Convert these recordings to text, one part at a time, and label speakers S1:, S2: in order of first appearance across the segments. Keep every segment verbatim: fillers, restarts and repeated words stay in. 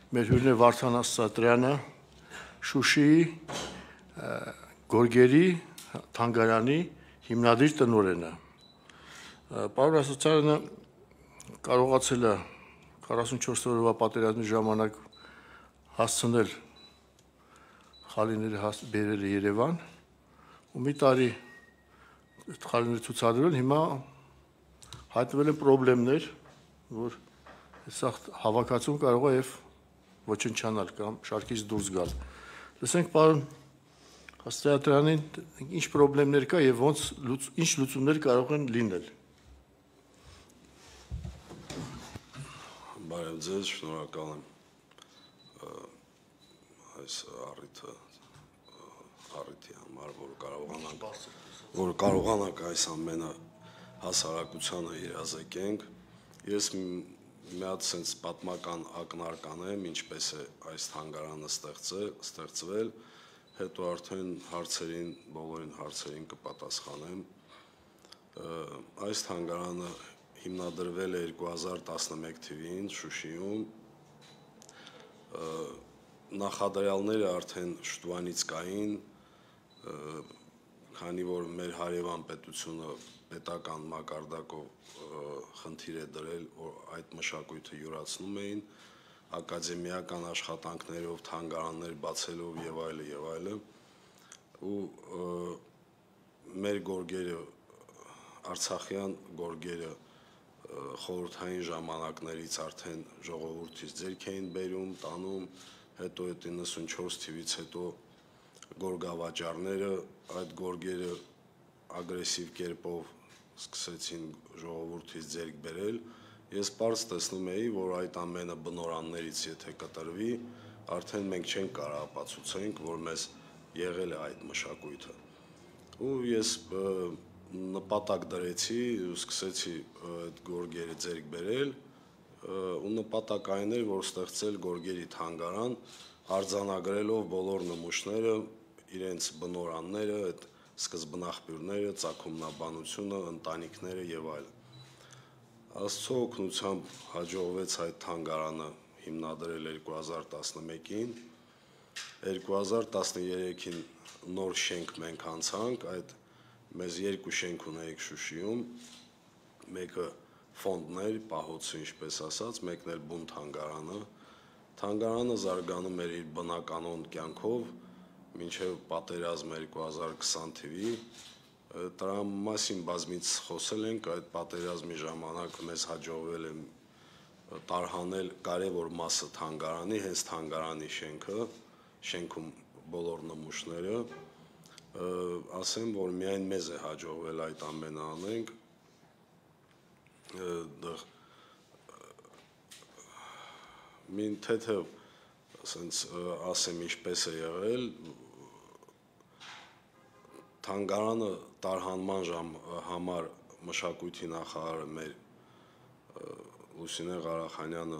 S1: մեր հյուրն է Վարդան Աստղատրյանը, Շուշիի Գորգերի թանգարանի հիմնադիր տնօրենը։ Պարոն Աստղատրյանը կարողացել է քառասունչորս օրվա պատերազմի ժամանակ հասցնել խալիները բերել Երևան, ու մի տարի խալիները ցուցադրել, հիմա հայտնվել են խնդիրներ, որ սա հավաքածուն կարող է եւ ոչնչանալ կամ շարքից դուրս գալ։ Լսենք պարոն Աստղատրյանին, ինչ խնդիրներ կա եւ ոնց ինչ լուծումներ կարող են լինել։
S2: Բարև ձեզ, շնորհակալ եմ այս առիթը առիթի համար, որ կարողանանք որ կարողանանք այս ամենը հասարակությանը իրազեկենք։ Ես մի հատ sense պատմական ակնարկան եմ, ինչպես է այս թանգարանը ստեղծվել, հետո արդեն հարցերին, բոլորին հարցերին կպատասխանեմ։ Այս թանգարանը հիմնադրվել է երկու հազար տասնմեկ թվականին Շուշիում։ Նախադրյալները արդեն շուտվանից կային, քանի որ մեր հարևան պետությունը պետական մակարդակով խնդիր է դրել, որ այդ մշակույթը յուրացնում էին, ակադեմիական աշխատանքներով, թանգարաններ բացելով եւ այլը եւ այլը, ու մեր գորգերը, արցախյան գորգերը խորհրդային ժամանակներից արդեն ժողովրդից ձեռք էին բերում, տանում, հետո այդ իննսունչորս թվականից հետո գորգավաճառները այդ գորգերը ագրեսիվ կերպով սկսեցին ժողովրդից ձեռք բերել, ես պարզ տեսնում էի, որ այդ ամենը բնորաններից եթե կտրվի, արդեն մենք չենք կարող ապացուցենք, որ մեզ եղել է այդ մշակույթը։ Ու ես նպատակ դրեցի ու սկսեցի այդ գորգերը ձեռք բերել, ու նպատակ այն էր, որ ստեղծել գորգերի թանգարան, արձանագրելով բոլոր նմուշները, իրենց բնորանները, այդ սկզբնաղբյուրները, ծագումնաբանությունը, ընտանիքները եւ այլն։ Աստծո օգնությամբ հաջողվեց այդ թանգարանը հիմնադրել երկու հազար տասնմեկին, երկու հազար տասներեքին նոր շենք մենք անցանք, այդ մեզ երկու շենք ունեիք Շուշիում, մեկը ֆոնդն էր, պահոցը ինչպես ասած, մեկն էլ բուն թանգարանը։ Թանգարանը զարգանում էր իր բնականոն կյանքով, մինչև պատերազմ երկու հազար քսան թվականի, դրա մասին բազմից խոսել ենք, այդ պատերազմի ժամանակ մեզ հաջողվել է տարհանել կարևոր մասը թանգարանի, հենց թանգարանի շենքը, շենքում բոլոր նմուշները, ասեմ, որ միայն մեզ է հաջողվել այդ ամենը անենք, մին թեթև ասեմ ինչպես է եղել, թանգարանը տարհանման համար մշակույթի նախարարը մեր Լուսինե Ղարախանյանը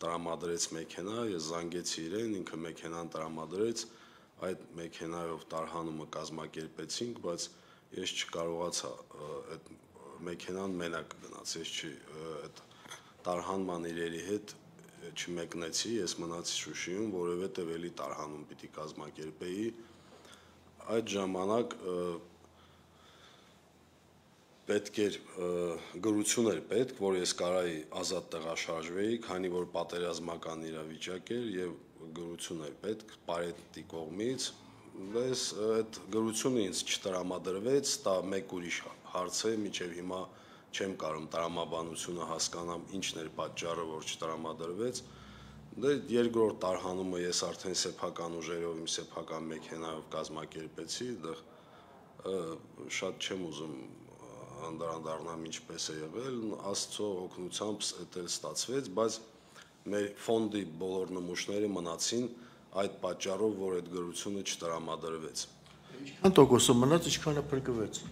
S2: տրամադրեց մեքենա, ես զանգեցի իրեն, ինքը մեքենան տրամադրեց, այդ մեքենայով տարհանումը կազմակերպեցինք, բայց ես չկարողացա այդ մեքենան մենակ գնաց, ես չի այդ տարհանման իրերի հետ չմեկնեցի, ես մնացի Շուշիում, որովհետև էլի տարհանում պիտի կազմակերպեի, այդ ժամանակ պետք էր գրություն էր պետք, որ ես կարայի ազատ տեղաշարժվեի, քանի որ պատերազմական իրավիճակ էր եւ գրություն էր պետք Պարետի կողմից, բայց այդ գրությունը ինձ չտրամադրվեց, դա մեկ ուրիշ հարց է, մինչեւ հիմա չեմ կարող տրամաբանությունը հասկանամ, ինչն էր պատճառը, որ չտրամադրվեց։ Դե երկրորդ տարհանումը ես արդեն սեփական ուժերով իմ սեփական մեքենայով կազմակերպեցի, դա շատ չեմ ուզում անդրադառնամ ինչպես է եղել, Աստծո օգնությամբ դա ստացվեց, բայց մեր ֆոնդի բոլոր նմուշները մնացին այդ պատճառով, որ այդ գրությունը չտրամադրվեց։
S1: Ինչքան տոկոսը մնաց, ինչքանը փրկվեց։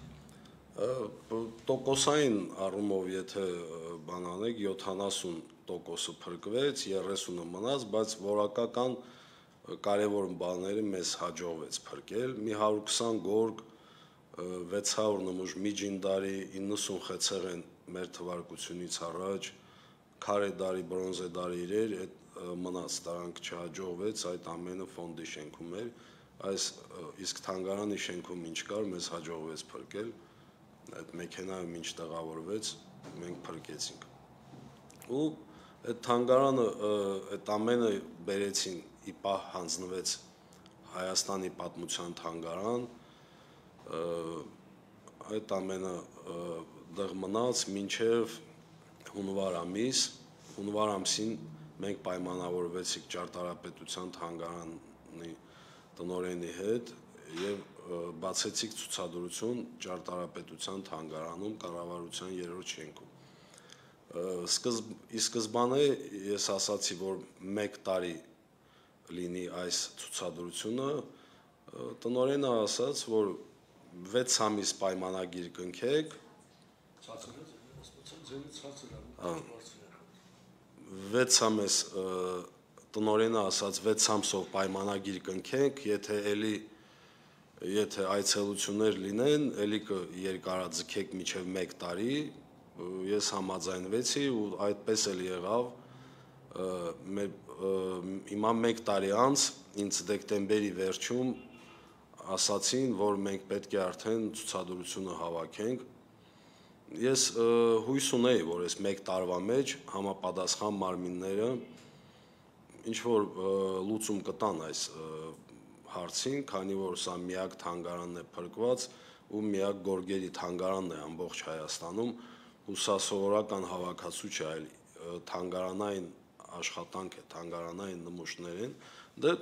S2: Տոկոսային առումով եթե բան անեք, յոթանասուն տոկոսը փրկվեց, երեսունը մնաց, բայց որակական կարևոր բաները մեզ հաջողվեց փրկել։ Մի հարյուր քսան գորգ, վեց հարյուր նմուշ միջին դարի, իննսուն խեցեղեն մեր թվարկությունից առաջ, քարե դարի, բրոնզե դարի իրեր, այդ մնաց, դրանք չհաջողվեց, այդ ամենը ֆոնդի շենքում էր, այս իսկ թանգարանի շենքում ինչ կար, մեզ հաջողվեց փրկել, այդ մեքենայում ինչ տեղավորվեց, մենք փրկեցինք։ Ու այդ թանգարանը, այդ ամենը բերեցին, ի պահ հանձնվեց Հայաստանի պատմության թանգարան, այդ ամենը դեղ մնաց մինչև հունվար ամիս, հունվար ամսին մենք պայմանավորվեցինք ճարտարապետության թանգարանի տնօրենի հետ եւ բացեցիք ցուցադրություն ճարտարապետության թանգարանում կառավարության երրորդ շենքում։ Սկզբ, ի սկզբանե ես ասացի, որ մեկ տարի լինի այս ցուցադրությունը, տնօրենը ասաց, որ վեց ամիս պայմանագիր կնքեք, վեց ամիս տնօրենը ասաց վեց ամսով պայմանագիր կնքենք, եթե էլի եթե այցելություններ լինեն, էլի կերկարաձգեք մինչև մեկ տարի, ես համաձայնվեցի ու այդպես էլ եղավ, հիմա մեկ տարի անց ինձ դեկտեմբերի վերջում ասացին, որ մենք պետք է արդեն ցուցադրությունը հավաքենք։ Ես հույս ունեի, որ այս մեկ տարվա մեջ համապատասխան մարմինները ինչ որ լուծում կտան այս հարցին, քանի որ սա միակ թանգարանն է փրկված ու միակ գորգերի թանգարանն է ամբողջ Հայաստանում, ու սա սովորական հավաքածու չէ, այլ թանգարանային աշխատանք է, թանգարանային նմուշներին, դե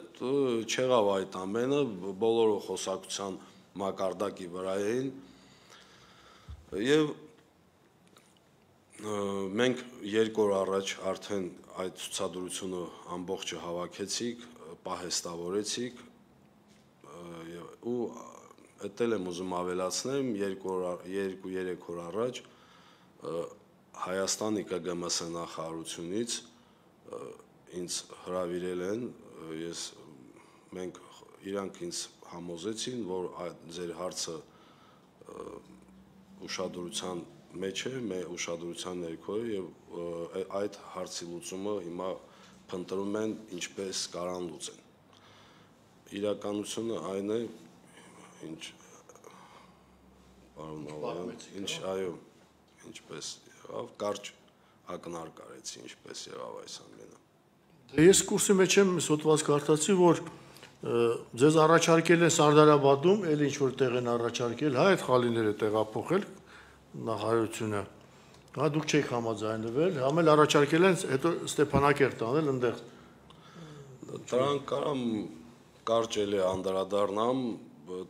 S2: չեղավ այդ ամենը, բոլորը խոսակցության մակարդակի վրա էին, եւ մենք երկու օր առաջ արդեն այդ ցուցադրությունը ամբողջը հավաքեցիք, պահեստավորեցիք, ու էդ էլ եմ ուզում ավելացնեմ, երկու-երեք օր առաջ Հայաստանի Կ Գ M S նախարարությունից ինձ հրավիրել են, ես մենք իրանք ինձ համոզեցին, որ ձեր հարցը ուշադրության մեջ է, մեր ուշադրության ներքո է եւ այդ հարցի լուծումը հիմա փնտրում են ինչպես կարան լուծեն։ Իրականությունը այն է, ինչ պարոն Ալայան, ինչ այո, ինչպես եղավ, կարճ ակնարկ արեցի, ինչպես եղավ այս ամենը։
S1: Ես կուրսի մեջ եմ հոդված կարդացի, որ ձեզ առաջարկել են Սարդարաբադում, էլ ինչ որ տեղ են առաջարկել, հա այդ խալիները տեղափոխել նախարարությունը, հա դուք չեք համաձայնվել, համ էլ առաջարկել են հետո Ստեփանակերտ տանել այնտեղ։
S2: Դրանք կարամ կարճ էլի անդրադառնամ,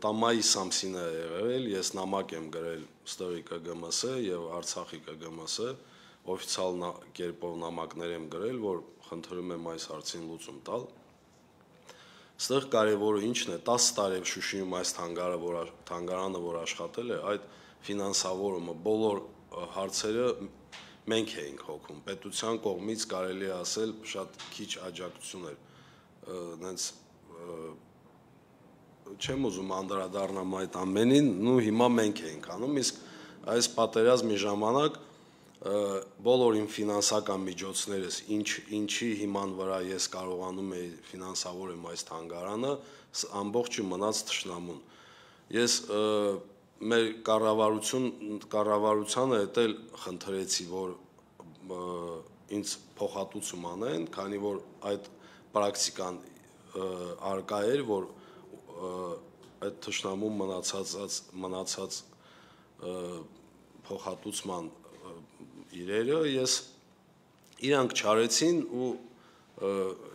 S2: տամայիս ամսին է եղել, ես նամակ եմ գրել ստորի Կ Գ M S եւ Արցախի Կ Գ M S, օֆիցիալ կերպով նամակներ եմ գրել, որ խնդրում եմ այս հարցին լուծում տալ։ Ստեղ կարևորը ինչն է, տասը տարի Շուշիում այս թանգարանը, որ աշխատել է, այդ ֆինանսավորումը, բոլոր հարցերը մենք էինք հոգում, պետության կողմից կարելի է ասել շատ քիչ աջակցություն էր, նենց չեմ ուզում անդրադառնամ այդ ամենին, ու հիմա մենք էինք անում, իսկ այս պատերազմի ժամանակ բոլոր իմ ֆինանսական միջոցներս, ինչ, ինչի հիման վրա ես կարողանում էի ֆինանսավորեմ այս թանգարանը, ամբողջը մնաց թշնամուն։ Ես մեր կառավարություն, կառավարությանը հետ էլ խնդրեցի, որ ինձ փոխհատուցում անեն, քանի որ այդ պրակտիկան արկա էր, որ այդ թշնամուն մնացած մնացած փոխհատուցման իրերը ես իրանք չարեցին ու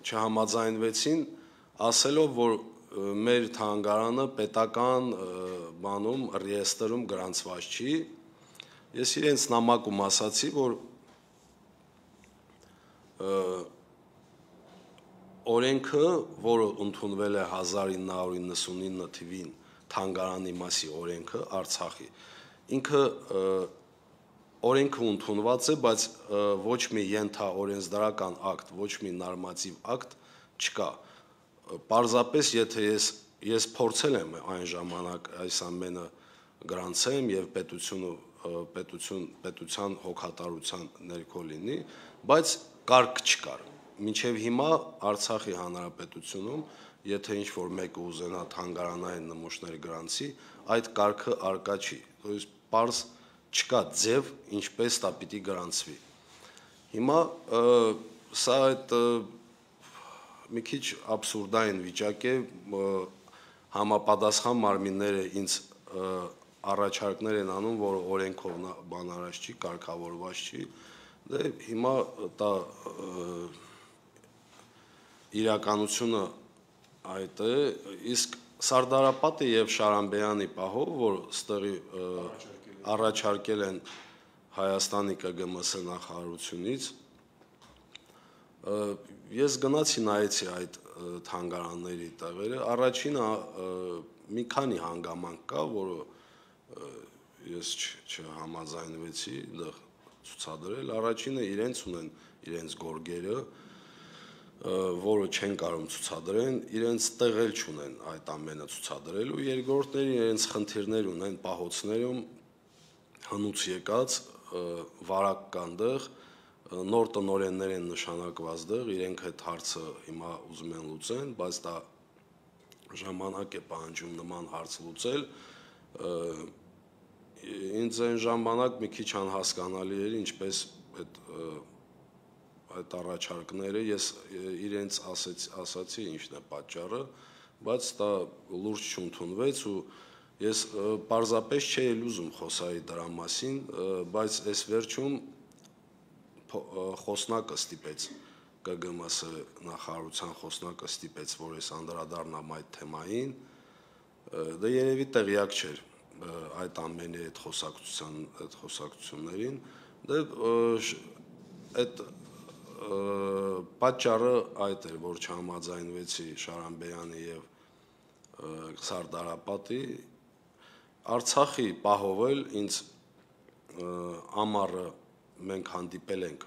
S2: չհամաձայնվեցին, ասելով, որ մեր թանգարանը պետական բանում ռեեստրում գրանցված չի։ Ես իրենց նամակում ասացի, որ օրենքը, որը ընդունվել է հազար ինը հարյուր իննսունինը թվին թանգարանի մասի օրենքը Արցախի, ինքը օրենքը ընդունված է, բայց ոչ մի ենթաօրենսդրական ակտ, ոչ մի նորմատիվ ակտ չկա։ Պարզապես եթե ես ես փորձել եմ այն ժամանակ այս ամենը գրանցեմ եւ պետությունը պետություն պետության հոգատարության ներքո լինի, բայց կարգ չկար։ մինչև հիմա Արցախի հանրապետությունում, եթե ինչ-որ մեկը ուզենա թանգարանային նմուշներ գրանցի, այդ կարգը արկա չի, то есть պարզ չկա ձև, ինչպես դա պիտի գրանցվի։ Հիմա սա այդ մի քիչ աբսուրդային վիճակ է, համապատասխան մարմինները ինձ առաջարկներ են անում, որ օրենքով բանարած չի, կարգավորված չի, դե հիմա դա իրականությունը այդ է, իսկ Սարդարապետը եւ Շարամբեյանի պահով, որ ստեղի առաջարկել են Հայաստանի K G M S նախարարությունից, ես գնացի նայեցի այդ թանգարանների տեղերը, առաջինը մի քանի հանգամանք կա, որը ես չհամաձայնվեցի դեռ ցուցադրել, առաջինը իրենց ունեն իրենց գորգերը, որը չեն կարող ցուցադրեն, իրենց տեղել չունեն այդ ամենը ցուցադրելու, երկրորդները իրենց խնդիրներ ունեն պահոցներում հնուց եկած վարակ կան դեղ, նոր տնօրեններ են նշանակված դեղ, իրենք այդ հարցը հիմա ուզում են լուծեն, բայց դա ժամանակ է պահանջում նման հարց լուծել, ինձ այն ժամանակ մի քիչ անհասկանալի էր, ինչպես այդ այդ առաջարկները, ես իրենց ասացի ինչն է պատճառը, բայց դա լուրջ չընդունվեց ու ես պարզապես չէի ուզում խոսայի դրա մասին, բայց այս վերջում խոսնակը ստիպեց K G M S նախարարության խոսնակը ստիպեց, որ ես անդրադառնամ այդ թեմային, դա երևի տեղյակ չէր այդ ամենի այդ խոսակցության այդ խոսակցություններին, դա այդ պատճառը այդ էր, որ չհամաձայնվեցի Շարամբեյանի եւ Սարդարապետի, Արցախի պահով էլ ինձ ամառը մենք հանդիպել ենք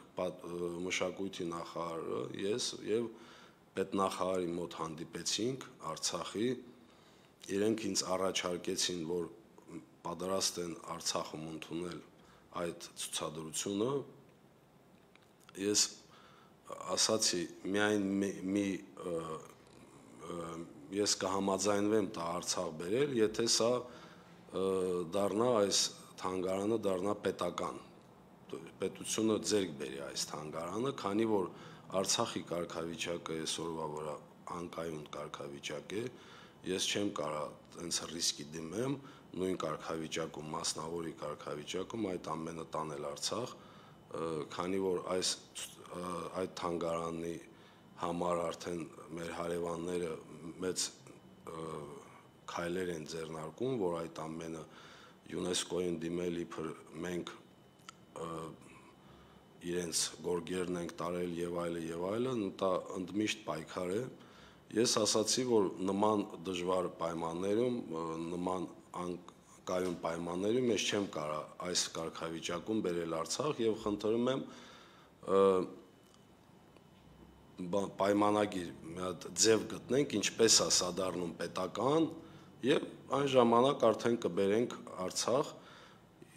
S2: մշակույթի նախարարը, ես եւ պետնախարարի մոտ հանդիպեցինք Արցախի, իրենք ինձ առաջարկեցին, որ պատրաստ են Արցախում ընդունել այդ ցուցադրությունը, ես ասացի միայն մի ես կհամաձայնվեմ դա Արցախ բերել, եթե սա դառնա այս թանգարանը դառնա պետական, պետությունը ձեռք բերի այս թանգարանը, քանի որ Արցախի կարգավիճակը այսօրվա վրա անկայուն կարգավիճակ է, ես չեմ կարող այնց ռիսկի դիմեմ, նույն կարգավիճակում, մասնավորի կարգավիճակում այդ ամենը տանել Արցախ, քանի որ այս այդ թանգարանի համար արդեն մեր հարևանները մեծ քայլեր են ձեռնարկում, որ այդ ամենը ՅՈՒՆԵՍԿՕ-ին դիմել իբր մենք իրենց գորգերն ենք տարել եւ այլը եւ այլն, դա ընդմիշտ պայքար է։ Ես ասացի, որ նման դժվար պայմաններում, նման անկայուն պայմաններում ես չեմ կարող այս կարգավիճակում բերել Արցախ եւ խնդրում եմ պայմանագիր մի հատ ձև գտնենք, ինչպես է սա դառնում պետական եւ այն ժամանակ արդեն կբերենք Արցախ։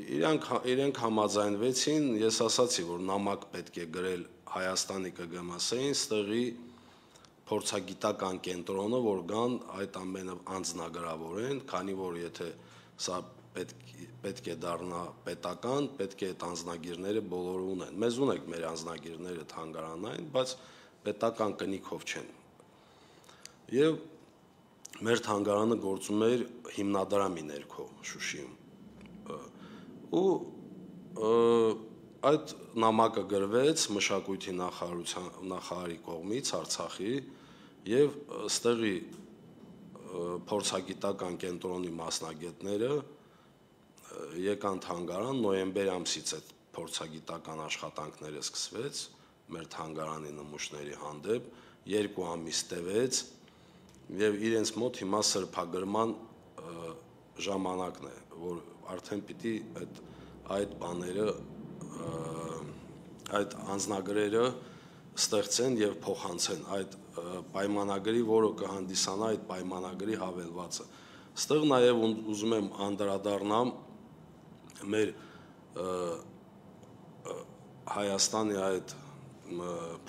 S2: Իրանք իրենք համաձայնվեցին, ես ասացի, որ նամակ պետք է գրել Հայաստանի K G M S-ին, ստեղի փորձագիտական կենտրոնը, որ գան այդ ամենը անձնագրավորեն, քանի որ եթե սա պետք պետք է դառնա պետական, պետք է այդ անձնագիրները բոլորը ունեն։ Մեզ ունենք մեր անձնագիրները թանգարանային, բայց պետական կնիքով չեն։ Եվ մեր թանգարանը գործում էր հիմնադրամի ներքո Շուշիում։ Ու այդ նամակը գրվեց մշակույթի նախարարության նախարարի կողմից Արցախի եւ ստեղի փորձագիտական կենտրոնի մասնագետները եկան թանգարան, նոյեմբեր ամսից այդ փորձագիտական աշխատանքները սկսվեց մեր թանգարանի նմուշների հանդեպ, երկու ամիս տևեց եւ իրենց մոտ հիմա սրբագրման ժամանակն է, որ արդեն պիտի այդ այդ բաները այդ անձնագրերը ստեղծեն եւ փոխանցեն այդ պայմանագրի, որը կհանդիսանա այդ պայմանագրի հավելվածը։ Ստեղ նաեւ ուզում եմ անդրադառնամ մեր Հայաստանի այդ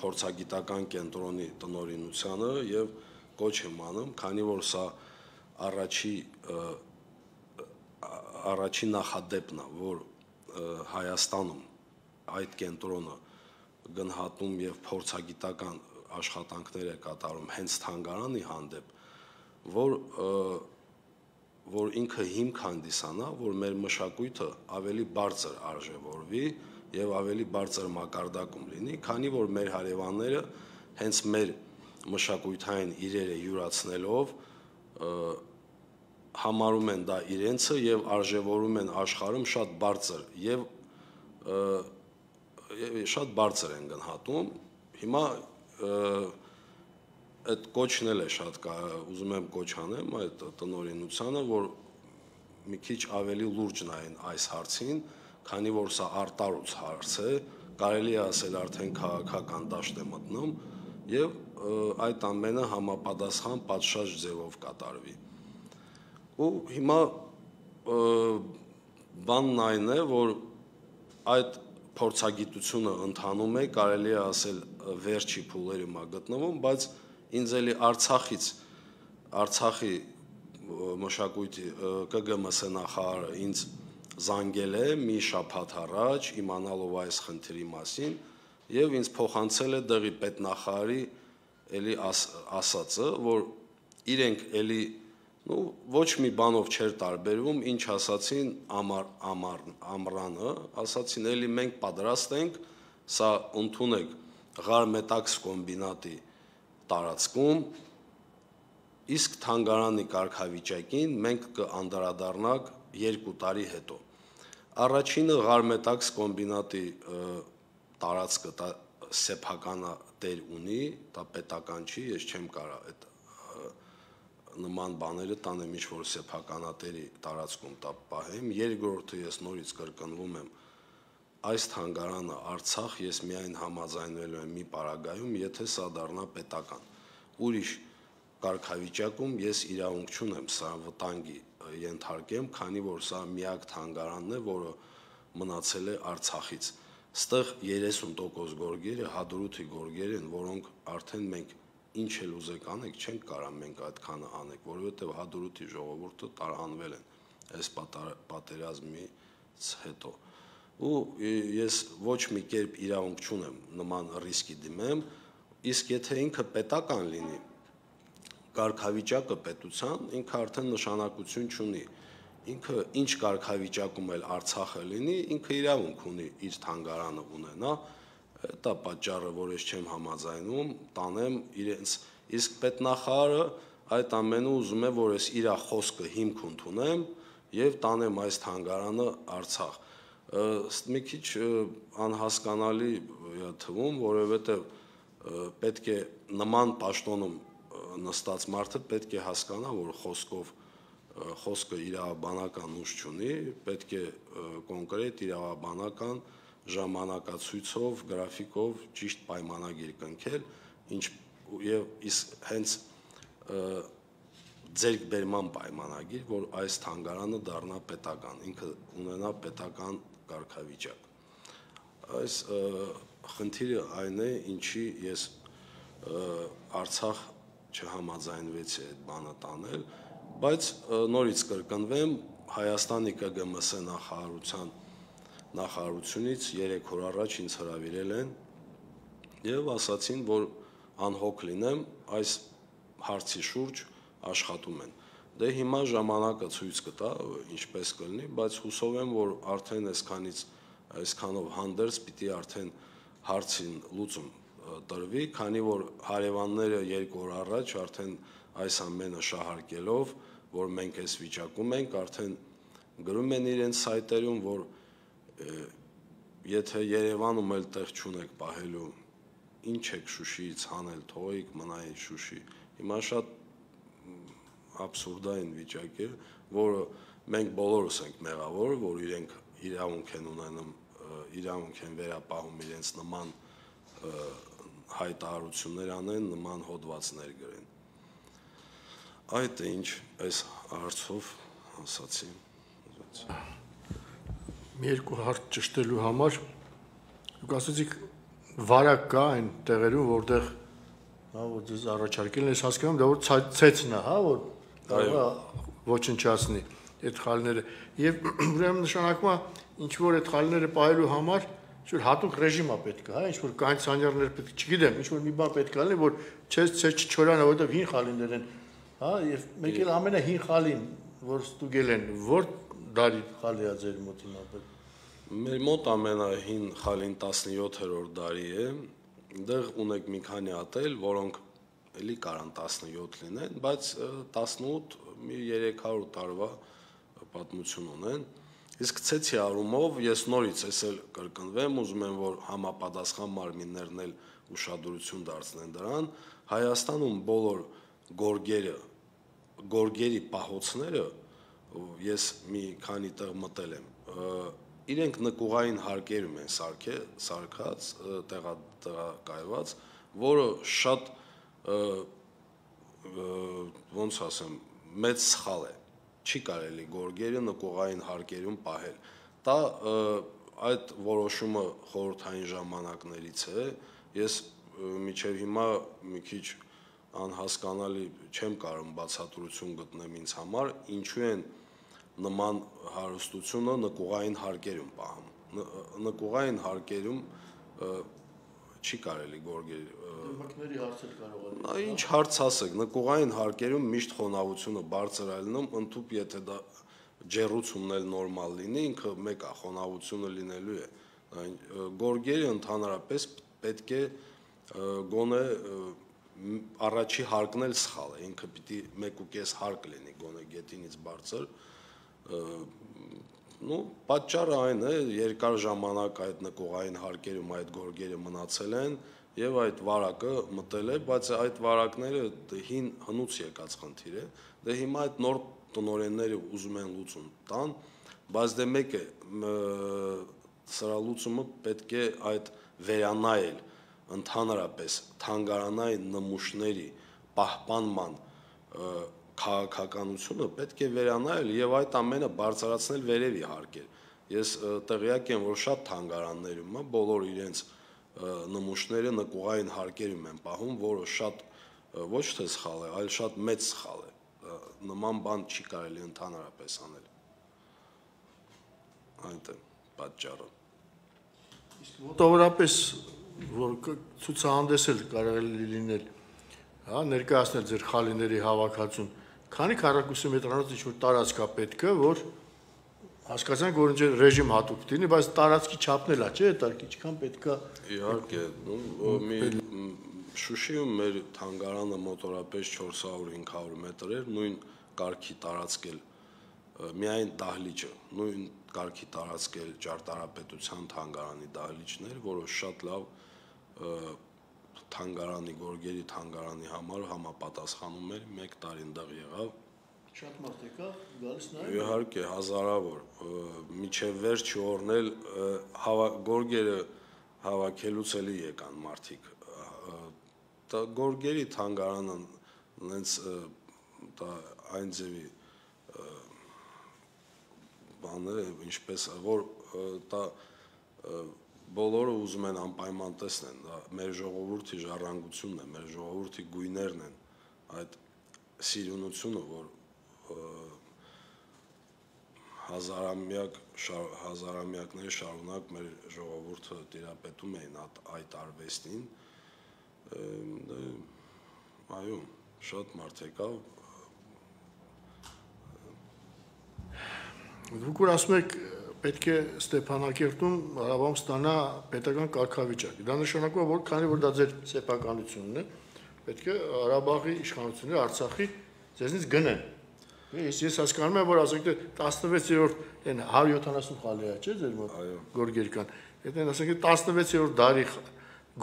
S2: փորձագիտական կենտրոնի տնօրինությանը եւ կոչ եմ անում, քանի որ սա առաջի առաջի նախադեպն է, որ Հայաստանում այդ կենտրոնը գնահատում եւ փորձագիտական աշխատանքներ է կատարում հենց թանգարանի հանդեպ, որ որ ինքը հիմք հանդիսանա, որ մեր մշակույթը ավելի բարձր արժևորվի եւ ավելի բարձր մակարդակում լինի, քանի որ մեր հարևանները հենց մեր մշակութային իրերը յուրացնելով համարում են դա իրենցը եւ արժևորում են աշխարհում շատ բարձր եւ շատ բարձր են գնահատում։ Հիմա այդ կոչն էլ է շատ ուզում եմ կոչ անեմ այդ տնօրինությանը, որ մի քիչ ավելի լուրջ նայեն այս հարցին, քանի որ սա արտարուց հարց է, կարելի է ասել արդեն քաղաքական դաշտ է մտնում եւ այդ ամենը համապատասխան պատշաճ ձևով կատարվի։ Ու հիմա բանն այն է, որ այդ փորձագիտությունը ընթանում է, կարելի է ասել վերջի փուլերում է գտնվում, բայց ինձ էլի Արցախից Արցախի մշակույթի Կ Գ M S նախարարը ինձ զանգել է մի շաբաթ առաջ իմանալով այս խնդրի մասին եւ ինձ փոխանցել է դեղի պետնախարարի էլի ասածը, որ իրենք էլի նու ոչ մի բանով չէր տարբերվում, ինչ ասացին ամար ամար ամրանը, ասացին էլի մենք պատրաստ ենք սա ընդունեք Ղարմետաքս կոմբինատի տարածքում, իսկ թանգարանի կարգավիճակին մենք կանդրադառնանք երկու տարի հետո։ Առաջինը Ղարմետաքս կոմբինատի տարածքը դա սեփականատեր ունի, դա պետական չի, ես չեմ կարա այդ նման բաները տանեմ ինչ որ սեփականատերի տարածքում տա պահեմ։ Երկրորդը ես նորից կրկնվում եմ, այս թանգարանը Արցախ ես միայն համաձայնվելու եմ մի պարագայում, եթե սա դառնա պետական։ Ուրիշ կարգավիճակում ես իրավունք չունեմ սա վտանգի ենթարկեմ, քանի որ սա միակ թանգարանն է, որը մնացել է Արցախից։ Ստեղ երեսուն տոկոս գորգերը հադրութի գորգեր են, որոնք արդեն մենք ինչ էլ ուզեք անեք, չենք կարա մենք այդքանը անենք, որովհետև հադրութի ժողովուրդը տարանվել են այս պատերազմից հետո։ Ու ես ոչ մի կերպ իրավունք չունեմ նման ռիսկի դիմեմ, իսկ եթե ինքը պետական լինի, կարգավիճակը պետության, ինքը արդեն նշանակություն չունի։ Ինքը ինչ կարգավիճակում էլ Արցախը լինի, ինքը իրավունք ունի իր թանգարանը ունենա, դա պատճառը, որ ես չեմ համաձայնում, տանեմ իրենց, իսկ պետնախարարը այդ ամենը ուզում է, որ ես իր խոսքը հիմք ընդունեմ եւ տանեմ այս թանգարանը Արցախ։ Մի քիչ անհասկանալի թվում, որովհետեւ պետք է նման պաշտոնում նստած մարդը պետք է հասկանա, որ խոսքով խոսքը իրավաբանական ուժ չունի, պետք է կոնկրետ իրավաբանական ժամանակացույցով, գրաֆիկով ճիշտ պայմանագիր կնքել, ինչ եւ իսկ հենց ձեռքբերման պայմանագիր, որ այս թանգարանը դառնա պետական, ինքը ունենա պետական կարգավիճակ։ Այս խնդիրը այն է, ինչի ես Արցախ չհամաձայնվեցի այդ բանը տանել, բայց նորից կրկնվեմ, Հայաստանի Կ Գ M S նախարարության նախարարությունից երեք օր առաջ ինձ հրավիրել են եւ ասացին, որ անհոգ լինեմ, այս հարցի շուրջ աշխատում են։ Դե հիմա ժամանակը ցույց կտա, ինչպես կլինի, բայց հուսով եմ, որ արդեն այսքանից այսքանով հանդերձ պիտի արդեն հարցին լուծում տրվի, քանի որ հարևանները երկու օր առաջ արդեն այս ամենը շահարկելով, որ մենք այս վիճակում ենք, արդեն գրում են իրենց սայթերում, որ եթե Երևանում էլ տեղ չունեք պահելու, ինչ եք Շուշիից հանել, թողեք մնայի Շուշի։ Հիմա շատ աբսուրդային վիճակ է, որը մենք բոլորս ենք մեղավոր, որ իրենք իրավունք են ունենում, իրավունք են վերապահում իրենց նման հայտարարություններ անեն, նման հոդվածներ գրեն։ Այդ է ինչ այս հարցով ասացի։
S1: Մի երկու հարց ճշտելու համար դուք ասացիք վարակ կա այն տեղերում, որտեղ հա որ դες առաջարկելն ես հասկանում, դա որ ցեցն է, հա, որ կարող է ոչնչացնի այդ խալիները։ Եվ ուրեմն նշանակում է ինչ որ այդ խալիները պահելու համար ինչ-որ հատուկ ռեժիմ է պետք, հա, ինչ-որ կայացանյարներ պետք, չգիտեմ, ինչ-որ մի բան պետք է լինի, որ չես ցես չչորանա, որովհետև հին խալիներ են, հա, եւ մեկ էլ ամենահին խալին, որ ստուգել են, որ դարի խալի է ձեր մոտ հիմա։
S2: Մեր մոտ ամենահին խալին տասնյոթերորդ դարի է, դեռ ունեք մի քանի հատել, որոնք էլի կարան տասնյոթ լինեն, բայց տասնութ մի երեք հարյուր տարվա պատմություն ունեն։ Իսկ ցեցի առումով ես նորից էսել կրկնվեմ, ուզում եմ, որ համապատասխան մարմիններն էլ ուշադրություն դարձնեն դրան, Հայաստանում բոլոր գորգերը, գորգերի պահոցները, ես մի քանի տեղ մտել եմ, իրենք նկուղային հարկերում են սարքած, տեղակայված, որը շատ ոնց ասեմ, մեծ սխալ է, չի կարելի գորգերը նկուղային հարկերում պահել։ Դա այդ որոշումը խորհրդային ժամանակներից է, ես մինչև հիմա մի քիչ անհասկանալի չեմ կարող բացատրություն գտնեմ ինձ համար, ինչու են նման հարստությունը նկուղային հարկերում պահում։ Նկուղային հարկերում չի կարելի գորգեր
S1: մկների հարցեր կարող է։
S2: Ինչ հարց ասեք, նկուղային հարկերում միշտ խոնավությունը բարձր է լինում, ընդհանուր եթե դա ջեռուցումն էլ նորմալ լինի, ինքը մեկ է, խոնավությունը լինելու է։ Գորգերը ընդհանրապես պետք է գոնե առաջի հարկն էլ սխալ է, ինքը պիտի մեկ ու կես հարկ լինի, գոնե գետինից բարձր։ Ну, պատճառը այն է, երկար ժամանակ այդ նկուղային հարկերում այդ գորգերը մնացել են եւ այդ վարակը մտել է, բայց այդ վարակները հին հնուց եկած խնդիր է։ Դե հիմա այդ նոր տնօրենները ուզում են լուծում տան, բայց դե մեկ է, սրա լուծումը պետք է այդ վերանայել ընդհանրապես թանգարանային նմուշների պահպանման քաղաքականությունը պետք է վերանայել եւ այդ ամենը բարձրացնել վերևի հարկեր։ Ես տեղյակ եմ, որ շատ թանգարաններում է բոլոր իրենց նմուշները նկուղային հարկերում են պահում, որը շատ ոչ թե սխալ է, այլ շատ մեծ սխալ է։ Նման բան չի կարելի ընդհանրապես անել։ Այդ է պատճառը։
S1: Իսկ մոտավորապես որ ցուցահանդեսել կարող է լինել, հա, ներկայացնել ձեր խալիների հավաքածուն, քանի քառակուսի մետրանոց ինչ-որ տարածք է պետք է, որ հասկացանք, որ ինչ ռեժիմ հատուկ լինի, բայց տարածքի չափն էլ է, չէ՞, տարածքի ինչքան պետք է։
S2: Իհարկե, մի Շուշիում մեր թանգարանը մոտորապես չորս հարյուր հինգ հարյուր մետր էր, նույն կարգի տարածքել միայն դահլիճը, նույն կարգի տարածքել ճարտարապետության թանգարանի դահլիճներ, որը շատ լավ թանգարանի, գորգերի թանգարանի համար համապատասխանում էր, մեկ տարի ընդեղ եղավ։
S1: Շատ մարդ եկավ, գալիս նայել։
S2: Իհարկե, հազարավոր, միջև վերջի օրն էլ գորգերը հավաքելուց էլի եկան մարդիկ։ Գորգերի թանգարանը նենց այն ձևի բան է, ինչպես որ դա բոլորը ուզում են անպայման տեսնեն, դա մեր ժողովրդի ժառանգությունն է, մեր ժողովրդի գույներն են, այդ սիրունությունը, որ հազարամյակ հազարամյակների շարունակ մեր ժողովուրդը տիրապետում էին այդ արվեստին, այո, շատ մարդ եկավ։
S1: Դուք որ ասում եք, պետք է Ստեփանակերտում Ղարաբաղում ստանա պետական կարգավիճակ։ Դա նշանակում է, որ քանի որ դա ձեր սեփականությունն է, պետք է Ղարաբաղի իշխանությունները Արցախի ձեզնից գնեն։ Ես ես հասկանում եմ, որ ասենք թե տասնվեցերորդ այն հարյուր յոթանասուն խալի է, չէ՞, ձեր մոտ գորգեր կան։ Եթե ասենք տասնվեցերորդ դարի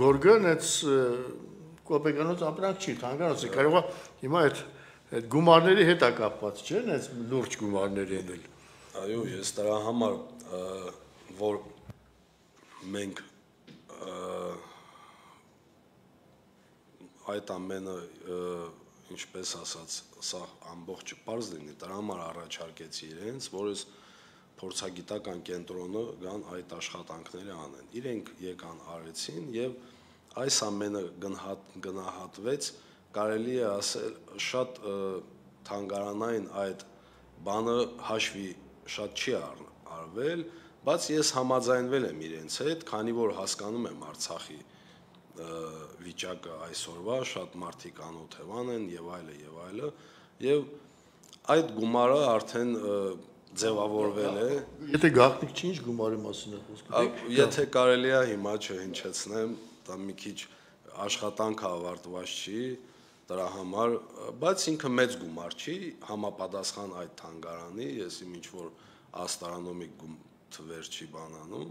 S1: գորգը նենց կոպեկանոց ապրանք չի, թանգարանոց է, կարող է հիմա այդ այդ գումարների հետ է կապված, չէ՞, նենց լուրջ գումարների հետ էլ։
S2: Այո, ես դրա համար, որ մենք այդ ամենը, ինչպես ասած, սա ամբողջը պարզ լինի, դրա համար առաջարկեցի իրենց, որ ես փորձագիտական կենտրոնը գան այդ աշխատանքները անեն։ Իրենք եկան արեցին եւ այս ամենը գնահատվեց, կարելի է ասել, շատ թանգարանային այդ բանը հաշվի շատ չի արվել, բայց ես համաձայնվել եմ իրենց հետ, քանի որ հասկանում եմ Արցախի վիճակը այսօրվա, շատ մարդիկ անօթևան են եւ այլը եւ այլը, եւ այդ գումարը արդեն ձևավորվել է։
S1: Եթե գաղտնիք չի, ինչ գումարի մասին է խոսքը։
S2: Եթե կարելի է հիմա չհնչեցնեմ, դա մի քիչ աշխատանքը ավարտված չի դրա համար, բայց ինքը մեծ գումար չի, համապատասխան այդ թանգարանի, ես իմ ինչ որ աստրոնոմիկ թվեր չի բանանում,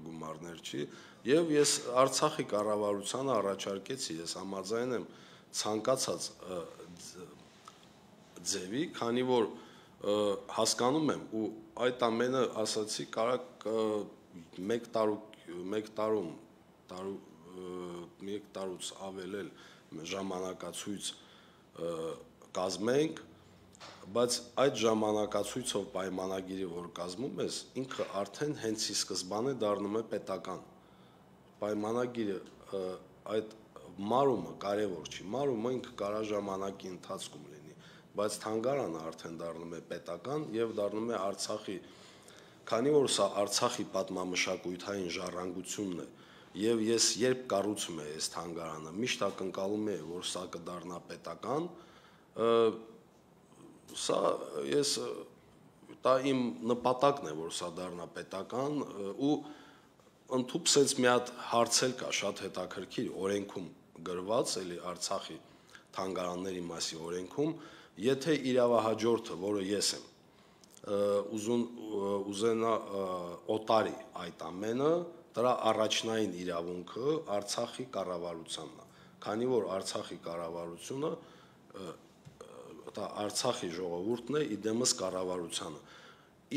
S2: գումարներ չի, եւ ես Արցախի կառավարությանը առաջարկեցի, ես համաձայն եմ ցանկացած ձևի, քանի որ հասկանում եմ ու այդ ամենը ասացի կարակ մեկ տարու մեկ տարում տարու մեկ տարուց ավել էլ ժամանակացույց կազմենք, բայց այդ ժամանակացույցով պայմանագիրը որ կազմում ես, ինքը արդեն հենց ի սկզբանե դառնում է պետական։ Պայմանագիրը այդ մարումը կարևոր չի, մարումը ինքը կարա ժամանակի ընթացքում լինի, բայց թանգարանը արդեն դառնում է պետական եւ դառնում է Արցախի, քանի որ սա Արցախի պատմամշակութային ժառանգությունն է, եւ ես երբ կառուցում եմ այս թանգարանը, միշտ ակնկալում եմ, որ սա կդառնա պետական, սա ես դա իմ նպատակն է, որ սա դառնա պետական ու ընդհուպսեց մի հատ հարց էլ կա շատ հետաքրքիր օրենքում գրված, էլի Արցախի թանգարանների մասի օրենքում, եթե իրավահաջորդը, որը ես եմ, ուզուն ուզենա օտարի այդ ամենը, դրա առաջնային իրավունքը Արցախի կառավարությանն է, քանի որ Արցախի կառավարությունը դա Արցախի ժողովուրդն է, իդեմս կառավարությանը։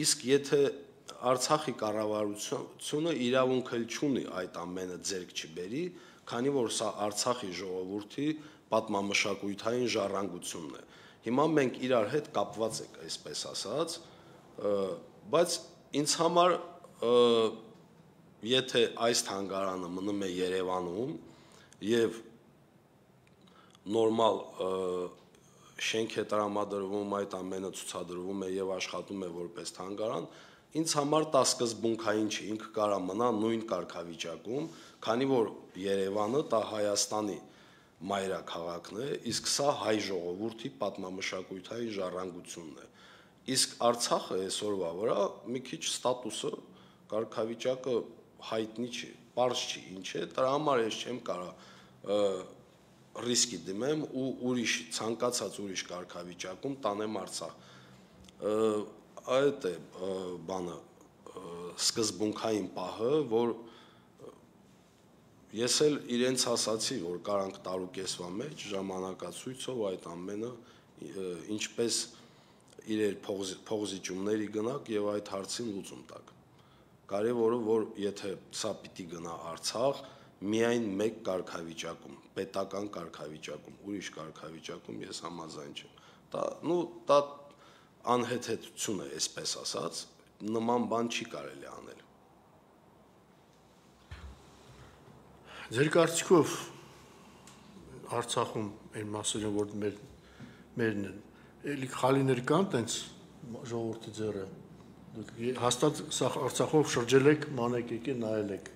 S2: Իսկ եթե Արցախի կառավարությունը իրավունք էլ չունի այդ ամենը ձեռք չբերի, քանի որ սա Արցախի ժողովրդի պատմամշակութային ժառանգությունն է։ Հիմա մենք իրար հետ կապված ենք, այսպես ասած, բայց ինձ համար եթե այս թանգարանը մնում է Երևանում եւ նորմալ շենք է տրամադրվում, այդ ամենը ցուցադրվում է եւ աշխատում է որպես թանգարան, ինձ համար դա սկզբունքային չի, ինքը կարա մնա նույն կարգավիճակում, քանի որ Երևանը դա Հայաստանի մայրաքաղաքն է, իսկ սա հայ ժողովրդի պատմամշակութային ժառանգությունն է։ Իսկ Արցախը այսօրվա վրա մի քիչ ստատուսը, կարգավիճակը հայտնի չի, պարզ չի, ինչ է, դրա համար ես չեմ կարա ռիսկի դիմեմ ու ուրիշ ցանկացած ուրիշ կարգավիճակում տանեմ Արցախ։ Այդ է բանը սկզբունքային պահը, որ ես էլ իրենց ասացի, որ կարանք տարուկեսվա մեջ ժամանակացույցով այդ ամենը ինչպես իրեր փողզիջումների գնաք եւ այդ հարցին լուծում տակ։ Կարևորը որ եթե սա պիտի գնա Արցախ, միայն մեկ կարգավիճակում, պետական կարգավիճակում, ուրիշ կարգավիճակում ես համաձայն չեմ։ Դա նու դա անհեթեթություն է, այսպես ասած, նման բան չի կարելի անել։
S1: Ձեր կարծիքով Արցախում այն մասերը որ մեր մերն են, էլի խալիներ կան տենց ժողովրդի ձեռը։ Դուք հաստատ սա Արցախով շրջել եք, մանեք եկել նայել եք։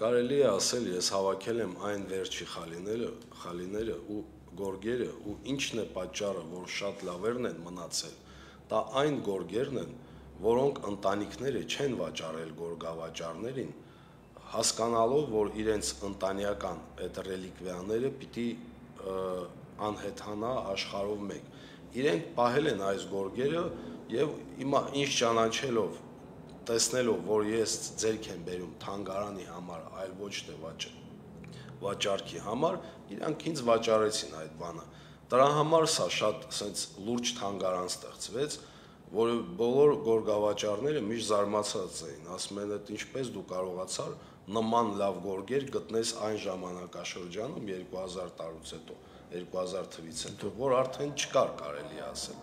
S2: Կարելի է ասել, ես հավաքել եմ այն վերջի խալիները, խալիները ու գորգերը ու ինչն է պատճառը, որ շատ լավերն են մնացել։ Դա այն գորգերն են, որոնք ընտանիքները չեն վաճառել գորգավաճառներին, հասկանալով, որ իրենց ընտանեկան այդ ռելիկվիաները պիտի անհեթանա աշխարհով մեկ։ Իրենք պահել են այս գորգերը եւ հիմա ինչ ճանաչելով, տեսնելով, որ ես ձերք եմ բերում թանգարանի համար, այլ ոչ թե վաճառքի համար, իրանք ինձ վաճառեցին այդ բանը։ Դրա համար սա շատ ասենց լուրջ թանգարան ստեղծվեց, որը բոլոր գորգավաճառները միշտ զարմացած էին, ասում են, այդ ինչպես դու կարողացար նման լավ գորգեր գտնես այն ժամանակաշրջանում երկու հազար տարուց հետո, երկու հազար թվից հետո, որ արդեն չկար կարելի ասել։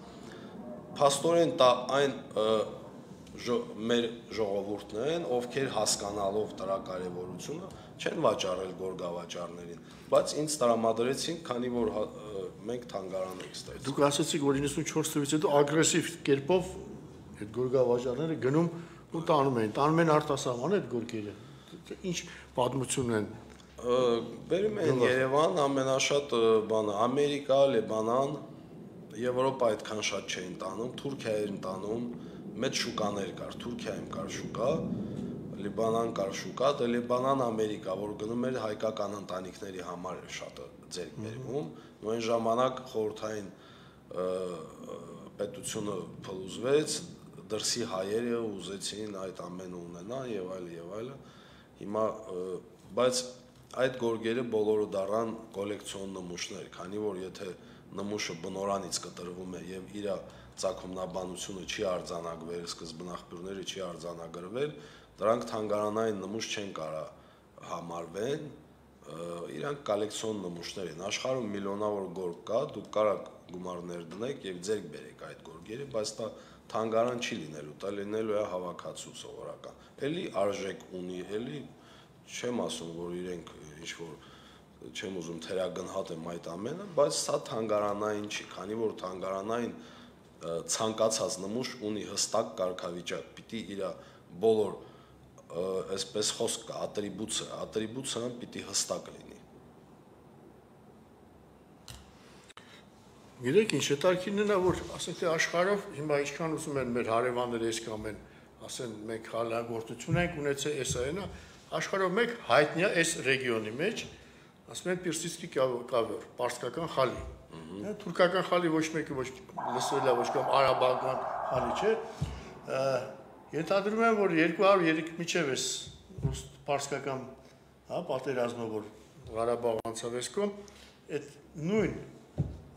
S2: Փաստորեն դա այն մեր ժողովուրդն են, ովքեր հասկանալով դրա կարևորությունը չեն վաճառել գորգավաճառներին, բայց ինձ տրամադրեցին, քանի որ մենք թանգարան ենք ստեղծել։
S1: Դուք ասացիք, որ իննսունչորս թվականից հետո ագրեսիվ կերպով այդ գորգավաճառները գնում ու տանում են, տանում են արտասահման այդ գորգերը։ Ինչ պատմություն են։
S2: Բերում են Երևան, ամենաշատ բանը Ամերիկա, Լիբանան, Եվրոպա այդքան շատ չէին տանում, Թուրքիա էին տանում, մեծ շուկաներ կար, Թուրքիայում կար շուկա, Լիբանան կար շուկա, դե Լիբանան, Ամերիկա, որ գնում էր հայկական ընտանիքների համար շատ ձեռք բերվում, ու այն ժամանակ խորհրդային պետությունը փլուզվեց, դրսի հայերը ուզեցին այդ ամենը ունենան եւ այլ եւ այլ։ Հիմա բայց այդ գորգերը բոլորը դառան կոլեկցիոն նմուշներ, քանի որ եթե նմուշը բնորանից կտրվում է եւ իր ցակումնաբանությունը չի արձանագրվել, սկզբնաղբյուրները չի արձանագրվել, դրանք թանգարանային նմուշ չեն կարա համարվեն, իրանք կոլեկցիոն նմուշներ են։ Աշխարհում միլիոնավոր գորգ կա, դուք կարաք գումարներ դնեք եւ ձեռք բերեք այդ գորգերը, բայց դա թանգարան չի լինելու, դա լինելու է հավաքածու սովորական։ Էլի արժեք ունի, էլի չեմ ասում, որ իրենք ինչ որ չեմ ուզում թերագնահատեմ այդ ամենը, բայց սա թանգարանային չի, քանի որ թանգարանային ցանկացած նմուշ ունի հստակ կարգավիճակ, պիտի իր բոլոր այսպես խոսք կա, ատրիբուտը, ատրիբուտը պիտի հստակ լինի։
S1: Գիտեք ինչ, հետաքրքիրն է, որ ասենք թե աշխարհով հիմա ինչքան ուզում են մեր հարևանները այս կամ են, ասեն մենք հալագործություն ենք ունեցել, էսա այնա, աշխարհով մեկ հայտնի է այս ռեգիոնի մեջ, ասում են Պիրսիցկի կավեր, պարսկական խալի։ Թուրքական խալի ոչ մեկը ոչ լսվել է, ոչ կամ արաբական խալի չէ։ Ենթադրում եմ, որ երկու հարյուր մինչև էս պարսկական, հա, պատերազմը, որ Ղարաբաղ անցավ էսկում, այդ նույն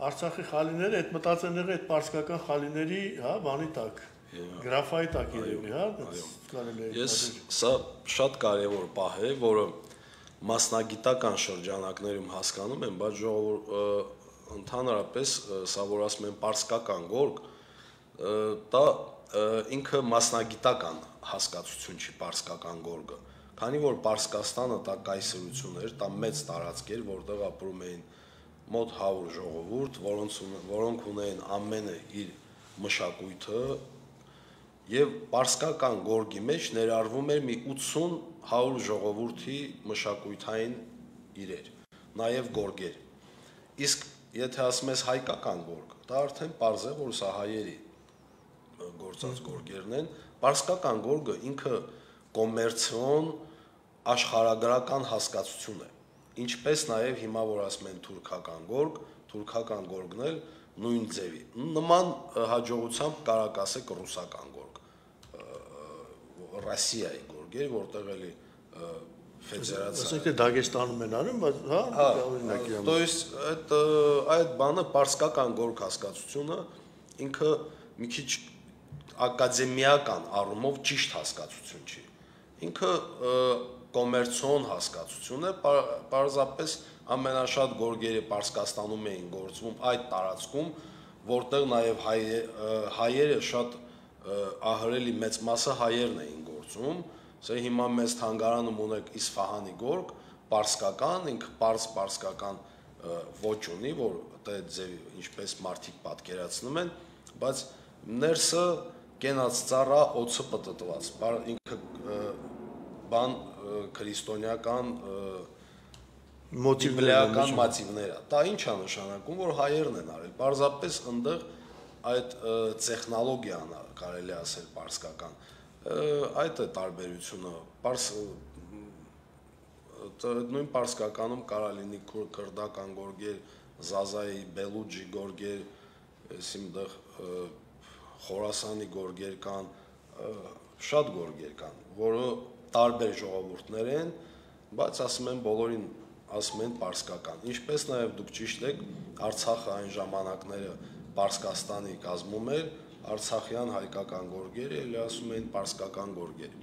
S1: Արցախի խալիները, այդ մտածեն եղել այդ պարսկական խալիների, հա, բանի տակ, գրաֆայի տակ երևի, հա, կարելի է։
S2: Ես սա շատ կարևոր պահ է, որը մասնագիտական շրջանակներում հասկանում եմ, բայց ժողովուրդ ընդհանրապես սա որ ասում են պարսկական գորգ, դա ինքը մասնագիտական հասկացություն չի պարսկական գորգը, քանի որ Պարսկաստանը դա կայսրություն էր, դա մեծ տարածք էր, որտեղ ապրում էին մոտ հարյուր ժողովուրդ, որոնց որոնք ունեին ամենը իր մշակույթը, եւ պարսկական գորգի մեջ ներառվում էր մի ութսուն հարյուր ժողովրդի մշակույթային իրեր, նաեւ գորգեր։ Իսկ եթե ասում ես հայկական գորգ, դա արդեն պարզ է, որ սա հայերի գործած գորգերն են, պարսկական գորգը ինքը կոմերցիոն աշխարհագրական հասկացություն է, ինչպես նաեւ հիմա որ ասում են թուրքական գորգ, թուրքական գորգն էլ նույն ձևի, նման հաջողությամբ կարակ ասեք ռուսական գորգ, Ռոսիայի գորգեր, որտեղ էլի ֆեդերացիա։
S1: Ասենք թե Դագեստանում են արում, բայց հա, օրինակի
S2: То есть այդ այդ բանը պարսկական գորգ հասկացությունը ինքը մի քիչ ակադեմիական առումով ճիշտ հասկացություն չի։ Ինքը կոմերցիոն հասկացություն է, պարզապես ամենաշատ գորգերը Պարսկաստանում էին գործվում այդ տարածքում, որտեղ նաև հայերը շատ ահռելի մեծ մասը հայերն էին գործում, սա հիմա մեծ թանգարանում ունեք Իսֆահանի գորգ, պարսկական, ինքը պարս պարսկական ոճ ունի, որ դա ձևի ինչպես մարդիկ պատկերացնում են, բայց ներսը կենաց ծառա օծը պտտված, ինքը բան քրիստոնեական մոտիվներական մոտիվներ է։ Դա ինչ է նշանակում, որ հայերն են արել։ Պարզապես այնտեղ այդ տեխնոլոգիան կարելի ասել պարսկական։ Այդ է տարբերությունը։ Պարս նույն պարսկականում կարա լինի քրդական գորգեր, Զազայի, Բելուջի գորգեր, այսինքն Խորասանի գորգեր կան, շատ գորգեր կան, որը տարբեր ժողովուրդներ են, բայց ասում են բոլորին ասում են պարսկական։ Ինչպես նաև դուք ճիշտ եք, Արցախը այն ժամանակները Պարսկաստանի կազմում էր, արցախյան հայկական գորգերը, էլի ասում էին պարսկական գորգեր։